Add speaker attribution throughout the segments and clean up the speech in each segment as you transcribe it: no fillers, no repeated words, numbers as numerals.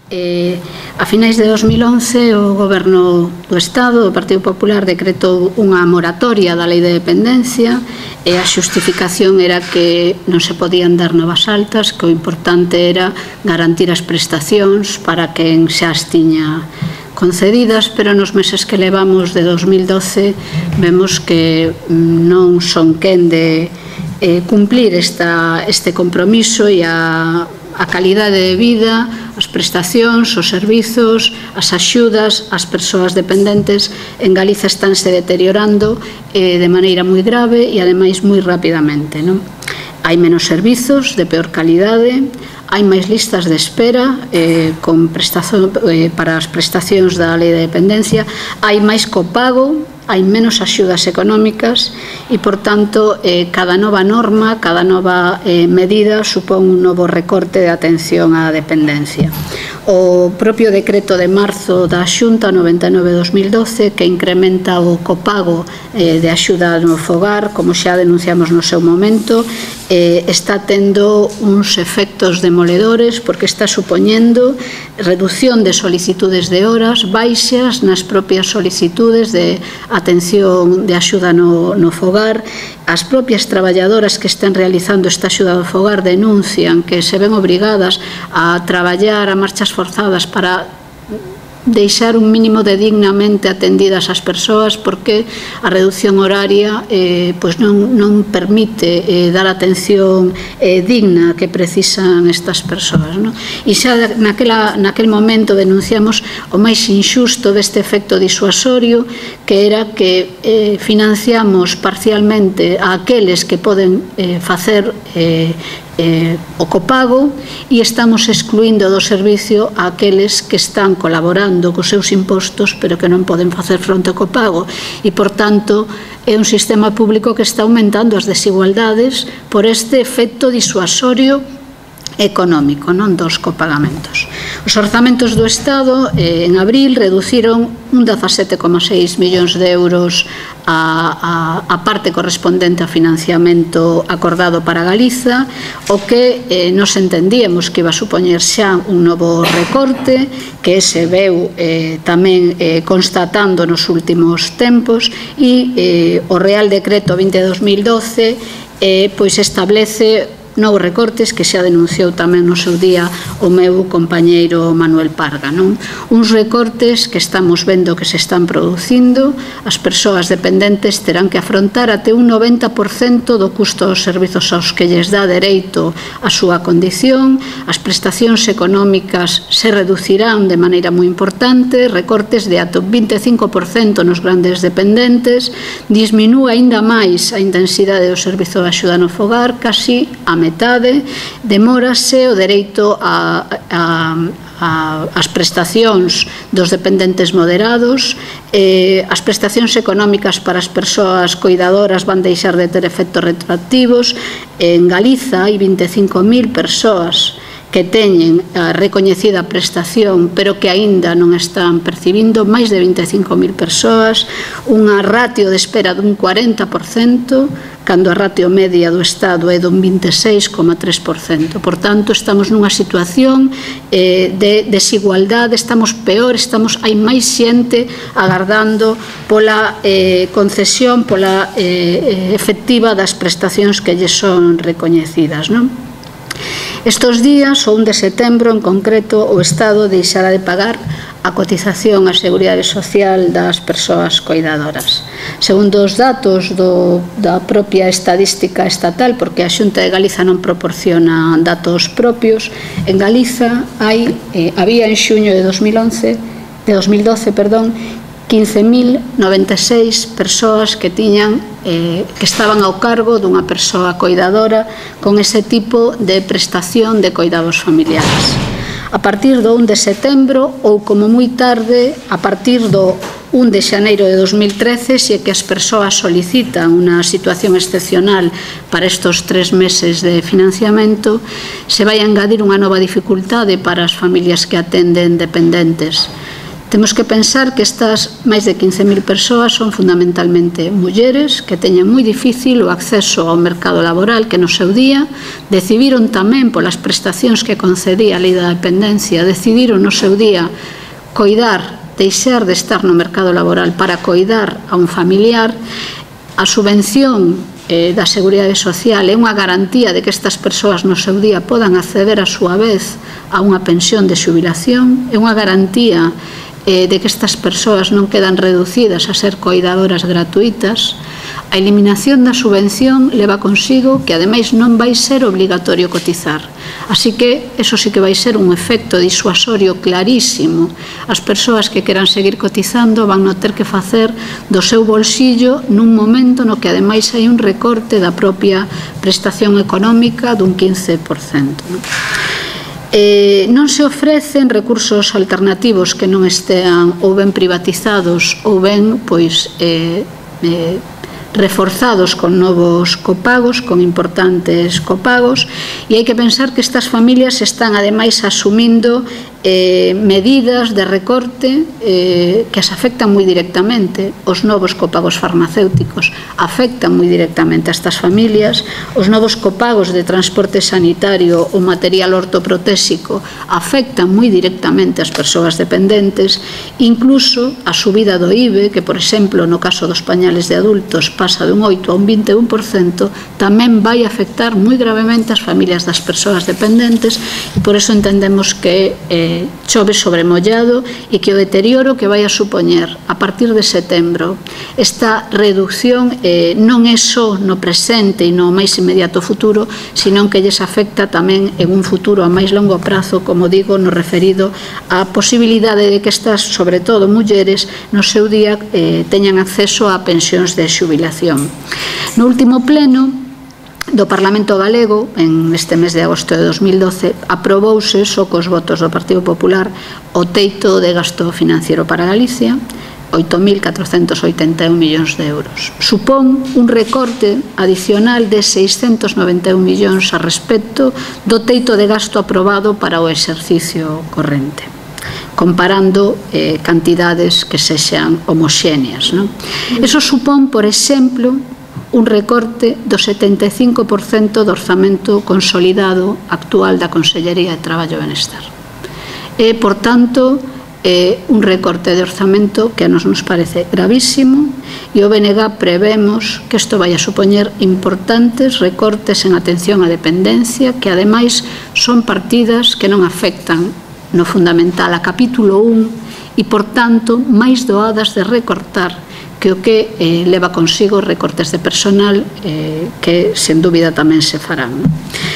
Speaker 1: A finais de 2011 o Goberno do Estado, o Partido Popular, decretou unha moratoria da Lei de Dependencia e a xustificación era que non se podían dar novas altas, que o importante era garantir as prestacións para quen xa as tiña concedidas, pero nos meses que levamos de 2012 vemos que non son quen de cumplir este compromiso e a calidade de vida, as prestacións, os servizos, as axudas ás persoas dependentes en Galiza estánse deteriorando de maneira moi grave e ademais moi rapidamente. Hai menos servizos de peor calidade, hai máis listas de espera para as prestacións da Lei de Dependencia, hai máis copago, hai menos axudas económicas e, por tanto, cada nova norma, cada nova medida supón un novo recorte de atención á dependencia. O propio decreto de marzo da Xunta 99/2012 que incrementa o copago de axuda no fogar, como xa denunciamos no seu momento, está tendo uns efectos demoledores porque está supoñendo reducción de solicitudes de horas, baixas nas propias solicitudes de atención de axuda no fogar. As propias traballadoras que están realizando esta axuda do fogar denuncian que se ven obrigadas a traballar a marchas forzadas para deixar un mínimo de dignamente atendidas as persoas porque a reducción horaria non permite dar a atención digna que precisan estas persoas. E xa naquel momento denunciamos o máis injusto deste efecto disuasorio, que era que financiamos parcialmente a aqueles que poden facer o copago e estamos excluindo do servicio a aqueles que están colaborando cos seus impostos pero que non poden facer fronte ao copago e, por tanto, é un sistema público que está aumentando as desigualdades por este efecto disuasorio económico dos copagamentos. Os orzamentos do Estado en abril reduciron un 17,6 millóns de euros a parte correspondente ao financiamento acordado para Galiza, o que nos entendíamos que iba a supoñer xa un novo recorte que se veu tamén constatando nos últimos tempos e o Real Decreto 20/2012 pois establece novos recortes que xa denunciou tamén no seu día o meu compañeiro Manuel Parga. Uns recortes que estamos vendo que se están producindo, as persoas dependentes terán que afrontar até un 90% do custo dos servizos aos que lles dá dereito a súa condición, as prestacións económicas se reducirán de maneira moi importante, recortes de ata un 25% nos grandes dependentes, disminúe aínda máis a intensidade do servizo de axuda no fogar, casi a metade, demórase o dereito ás prestacións dos dependentes moderados, as prestacións económicas para as persoas coidadoras van deixar de ter efectos retroactivos. En Galiza hai 25.000 persoas que teñen a recoñecida prestación pero que aínda non están percibindo, máis de 25.000 persoas, unha ratio de espera dun 40%, cando a ratio media do Estado é dun 26,3%. Por tanto, estamos nunha situación de desigualdade, estamos peor, hai máis xente agardando pola concesión, pola efectiva das prestacións que lles son recoñecidas. Estos días, o 1 de setembro en concreto, o Estado deixará de pagar a cotización á Seguridade Social das persoas coidadoras. Segundo os datos da propia estadística estatal, porque a Xunta de Galiza non proporciona datos propios, en Galiza había en xuño de 2012, 15.096 persoas que estaban ao cargo dunha persoa coidadora con ese tipo de prestación de coidados familiares. A partir do 1 de setembro ou como moi tarde, a partir do 1 de xaneiro de 2013, se que as persoas solicitan unha situación excepcional para estes 3 meses de financiamento, se vai a engadir unha nova dificultade para as familias que atenden dependentes. Temos que pensar que estas máis de 15.000 persoas son fundamentalmente mulleres que teñen moi difícil o acceso ao mercado laboral, que no seu día decidiron tamén polas prestacións que concedía a Lei da Dependencia, decidiron no seu día coidar, deixar de estar no mercado laboral para coidar a un familiar. A subvención da Seguridade Social é unha garantía de que estas persoas no seu día podan acceder a súa vez a unha pensión de xubilación, é unha garantía de que estas persoas non quedan reducidas a ser coidadoras gratuitas. A eliminación da subvención leva consigo que ademais non vai ser obligatorio cotizar, así que eso sí que vai ser un efecto disuasorio clarísimo. As persoas que queran seguir cotizando van non ter que facer do seu bolsillo nun momento no que ademais hai un recorte da propia prestación económica dun 15%. Non se ofrecen recursos alternativos que non estean ou ben privatizados ou ben reforzados con novos copagos, con importantes copagos, e hai que pensar que estas familias están ademais asumindo medidas de recorte que as afectan moi directamente. Os novos copagos farmacéuticos afectan moi directamente a estas familias, os novos copagos de transporte sanitario ou material ortoprotésico afectan moi directamente as persoas dependentes, incluso a subida do IVE, que por exemplo no caso dos pañales de adultos pasa dun 8 a un 21%, tamén vai afectar moi gravemente as familias das persoas dependentes, e por eso entendemos que chove sobre mollado e que o deterioro que vai a supoñer a partir de setembro esta reducción non é só no presente e no máis inmediato futuro, senón que lles afecta tamén en un futuro a máis longo prazo, como digo, no referido á posibilidade de que estas, sobre todo mulleres, no seu día teñan acceso a pensións de xubilación. No último pleno do Parlamento Galego, neste mes de agosto de 2012, aprobouse, só cos votos do Partido Popular, o teito de gasto financiero para Galicia, 8.481 millóns de euros. Supón un recorte adicional de 691 millóns a respecto do teito de gasto aprobado para o exercicio corrente, comparando cantidades que sexan homoxéneas. Eso supón, por exemplo, un recorte do 75% do orzamento consolidado actual da Consellería de Traballo e Benestar. É, por tanto, un recorte de orzamento que a nos parece gravísimo, e o BNG prevemos que isto vai a supoñer importantes recortes en atención á dependencia, que ademais son partidas que non afectan no fundamental a capítulo 1 e, por tanto, máis doadas de recortar que o que leva consigo recortes de personal que, sen dúbida, tamén se farán.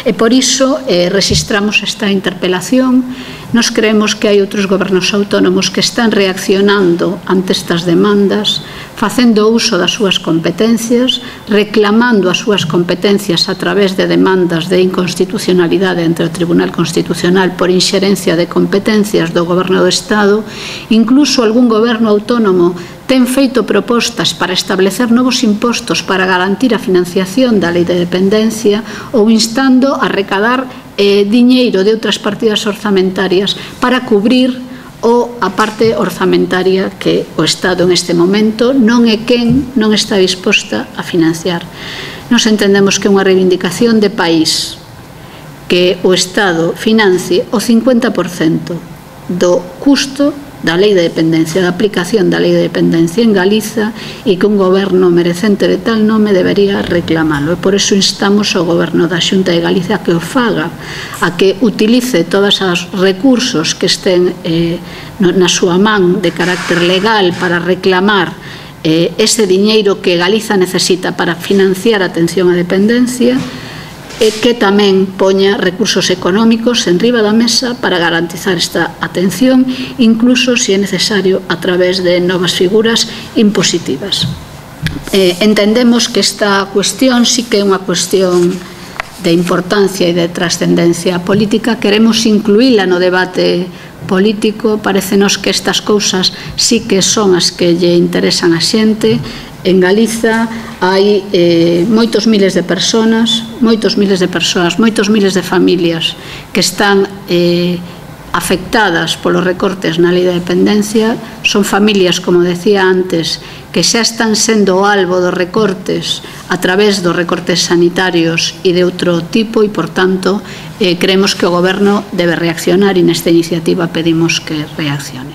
Speaker 1: E por iso rexistramos esta interpelación. Nos creemos que hai outros gobernos autónomos que están reaccionando ante estas demandas, facendo uso das súas competencias, reclamando as súas competencias a través de demandas de inconstitucionalidade ante o Tribunal Constitucional por inxerencia de competencias do Goberno do Estado. Incluso algún goberno autónomo ten feito propostas para establecer novos impostos para garantir a financiación da Lei de Dependencia ou instando a recadar diñeiro de outras partidas orzamentarias para cubrir a parte orzamentaria que o Estado en este momento non é quen non está disposta a financiar. Nos entendemos que é unha reivindicación de país que o Estado financie o 50% do custo da Lei de Dependencia, da aplicación da Lei de Dependencia en Galiza, e que un goberno merecente de tal nome debería reclamalo. E por eso instamos ao goberno da Xunta de Galicia que o faga, a que utilice todos os recursos que estén na súa man de carácter legal para reclamar ese diñeiro que Galiza necesita para financiar a atención á dependencia, e que tamén poña recursos económicos en riba da mesa para garantizar esta atención, incluso se é necesario a través de novas figuras impositivas. Entendemos que esta cuestión sí que é unha cuestión de importancia e de trascendencia política. Queremos incluíla no debate político. Parecenos que estas cousas sí que son as que lle interesan a xente. En Galiza hai moitos miles de persoas, moitos miles de familias que están afectadas polos recortes na lei da dependencia son familias, como decía antes, que xa están sendo albo dos recortes a través dos recortes sanitarios e de outro tipo e, por tanto, creemos que o Goberno debe reaccionar e nesta iniciativa pedimos que reaccione.